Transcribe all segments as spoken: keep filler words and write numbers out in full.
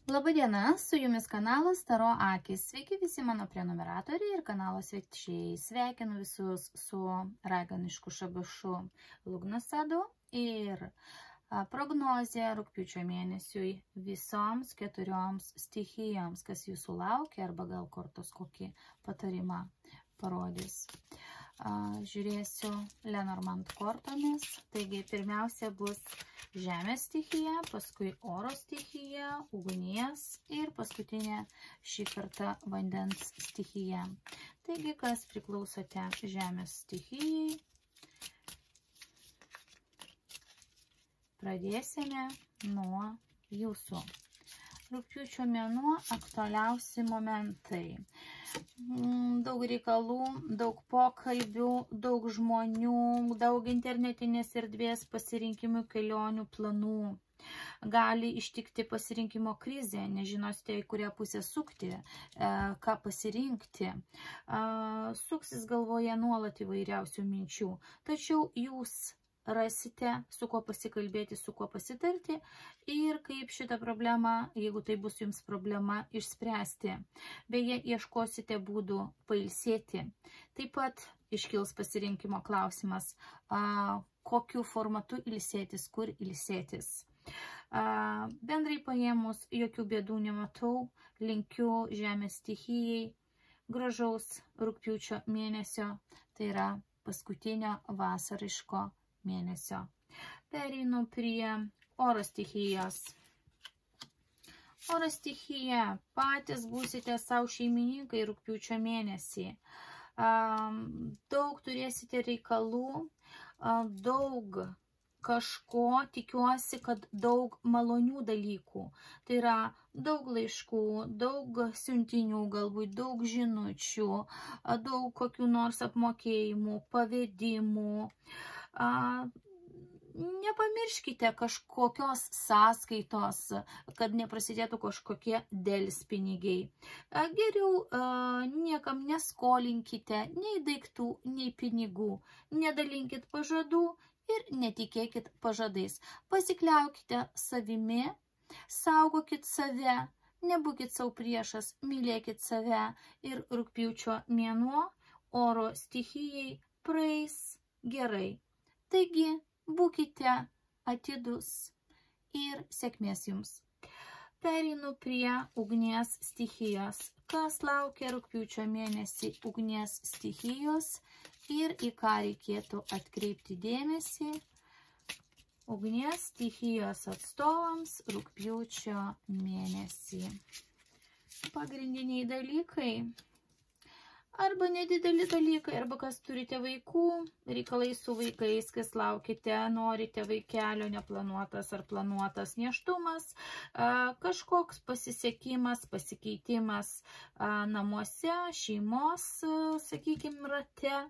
Labadiena, su jumis kanalas Taro Akys. Sveiki visi mano prenumeratoriai ir kanalo svečiai. Sveikinu visus su raganišku šabašu Lugnasadu ir prognozė rugpjūčio mėnesiui visoms keturioms stichijoms, kas jūsų laukia arba gal kortos kokį patarimą parodys. Žiūrėsiu Lenormand kortomis. Taigi pirmiausia bus žemės stichija, paskui oro stichija, ugnies ir paskutinė šį kartą vandens stichija. Taigi, kas priklausote žemės stichijai, pradėsime nuo jūsų. Rugpjūčio mėnuo aktualiausi momentai. Daug reikalų, daug pokalbių, daug žmonių, daug internetinės erdvės pasirinkimų, kelionių, planų. Gali ištikti pasirinkimo krizė, nežinosite, į kurią pusę sukti, ką pasirinkti. Suksis galvoje nuolat įvairiausių minčių, tačiau jūs rasite, su kuo pasikalbėti, su kuo pasitarti ir kaip šitą problemą, jeigu tai bus jums problema, išspręsti. Beje, ieškosite būdų pailsėti. Taip pat iškils pasirinkimo klausimas, a, kokiu formatu ilsėtis, kur ilsėtis. A, bendrai paėmus, jokių bėdų nematau, linkiu žemės stichijai gražaus rugpjūčio mėnesio, tai yra paskutinio vasariško mėnesio. Pereinu prie oro stichijos. Oro stichija, patys būsite savo šeimininkai rugpjūčio mėnesį. Daug turėsite reikalų, daug kažko, tikiuosi, kad daug malonių dalykų. Tai yra daug laiškų, daug siuntinių, galbūt daug žinučių, daug kokių nors apmokėjimų, pavedimų. A, nepamirškite kažkokios sąskaitos, kad neprasidėtų kažkokie delspinigiai. A, geriau a, niekam neskolinkite nei daiktų, nei pinigų. Nedalinkit pažadų ir netikėkit pažadais. Pasikliaukite savimi, saugokit save, nebūkit savo priešas, mylėkit save ir rugpjūčio mėnuo oro stichijai praeis gerai. Taigi, būkite atidus ir sėkmės jums. Pereinu prie ugnies stichijos. Kas laukia rugpjūčio mėnesį ugnies stichijos ir į ką reikėtų atkreipti dėmesį ugnies stichijos atstovams rugpjūčio mėnesį. Pagrindiniai dalykai. Arba nedideli dalykai, arba kas turite vaikų, reikalai su vaikais, kas laukite, norite vaikelio, neplanuotas ar planuotas nėštumas, kažkoks pasisekimas, pasikeitimas namuose, šeimos, sakykime, rate,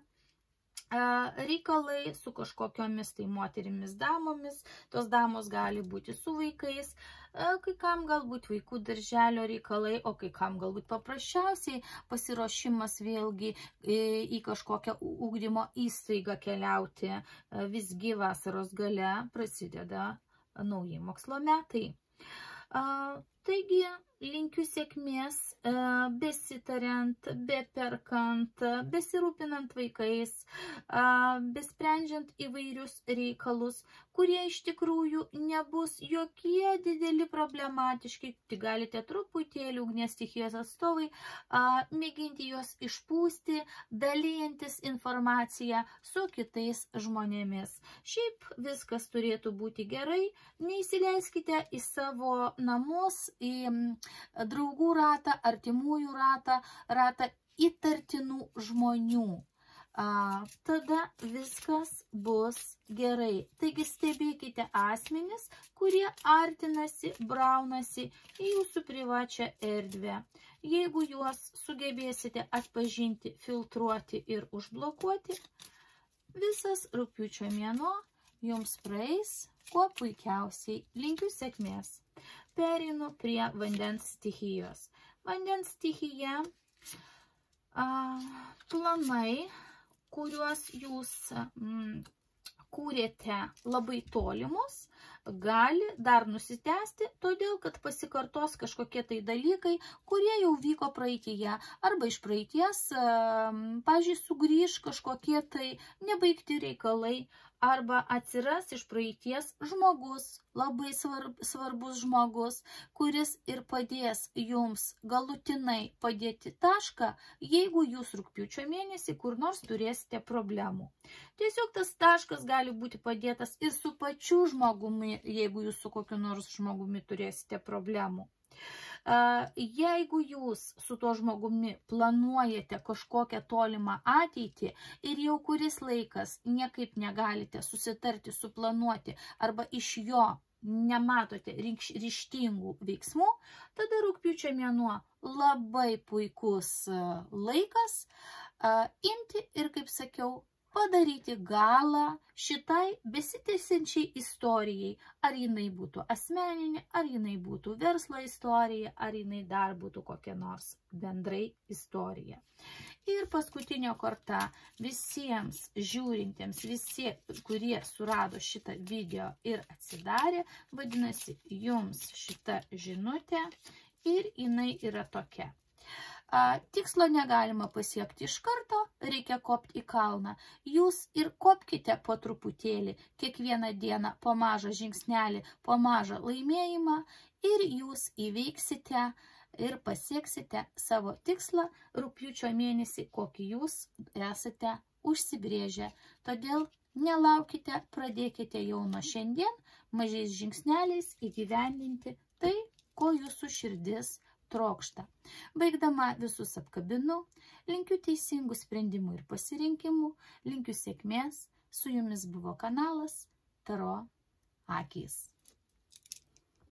reikalai su kažkokiomis tai moterimis damomis, tos damos gali būti su vaikais, kai kam galbūt vaikų darželio reikalai, o kai kam galbūt paprasčiausiai pasiruošimas vėlgi į kažkokią ugdymo įstaigą keliauti. Visgi vasaros gale prasideda nauji mokslo metai. Taigi, linkiu sėkmės, besitariant, beperkant, besirūpinant vaikais, besprendžiant įvairius reikalus, kurie iš tikrųjų nebus jokie dideli problematiški, tik galite truputėlį ugnies stichijos atstovai mėginti juos išpūsti, dalyjantis informaciją su kitais žmonėmis. Šiaip viskas turėtų būti gerai, neįsileiskite į savo namus, į draugų ratą, artimųjų ratą, ratą įtartinų žmonių. A, tada viskas bus gerai. Taigi stebėkite asmenis, kurie artinasi, braunasi į jūsų privačią erdvę. Jeigu juos sugebėsite atpažinti, filtruoti ir užblokuoti, visas rugpjūčio mėnuo jums praeis kuo puikiausiai. Linkiu sėkmės. Pereinu prie vandens stichijos. Vandens stichija, a, planai, kuriuos jūs mm, kūrėte labai tolimus, gali dar nusitęsti, todėl, kad pasikartos kažkokie tai dalykai, kurie jau vyko praeityje, arba iš praeities, pavyzdžiui, sugrįž kažkokie tai nebaigti reikalai, arba atsiras iš praeities žmogus, labai svarb, svarbus žmogus, kuris ir padės jums galutinai padėti tašką, jeigu jūs rugpjūčio mėnesį kur nors turėsite problemų. Tiesiog tas taškas gali būti padėtas ir su pačiu žmogumi, jeigu jūs su kokiu nors žmogumi turėsite problemų. Jeigu jūs su tuo žmogumi planuojate kažkokią tolimą ateitį ir jau kuris laikas niekaip negalite susitarti, suplanuoti arba iš jo nematote ryžtingų veiksmų, tada rugpjūčio mėnuo labai puikus laikas imti ir, kaip sakiau, padaryti galą šitai besitęsiančiai istorijai, ar jinai būtų asmeninė, ar jinai būtų verslo istorija, ar jinai dar būtų kokia nors bendrai istorija. Ir paskutinio kartą visiems žiūrintiems, visi, kurie surado šitą video ir atsidarė, vadinasi, jums šita žinutė ir jinai yra tokia. Tikslo negalima pasiekti iš karto, reikia kopti į kalną. Jūs ir kopkite po truputėlį, kiekvieną dieną po mažą žingsnelį, po mažą laimėjimą ir jūs įveiksite ir pasieksite savo tikslą rugpjūčio mėnesį, kokį jūs esate užsibrėžę. Todėl nelaukite, pradėkite jau nuo šiandien mažais žingsneliais įgyvendinti tai, ko jūsų širdis trokšta. Baigdama visus apkabinu, linkiu teisingų sprendimų ir pasirinkimų, linkiu sėkmės, su jumis buvo kanalas Taro akys.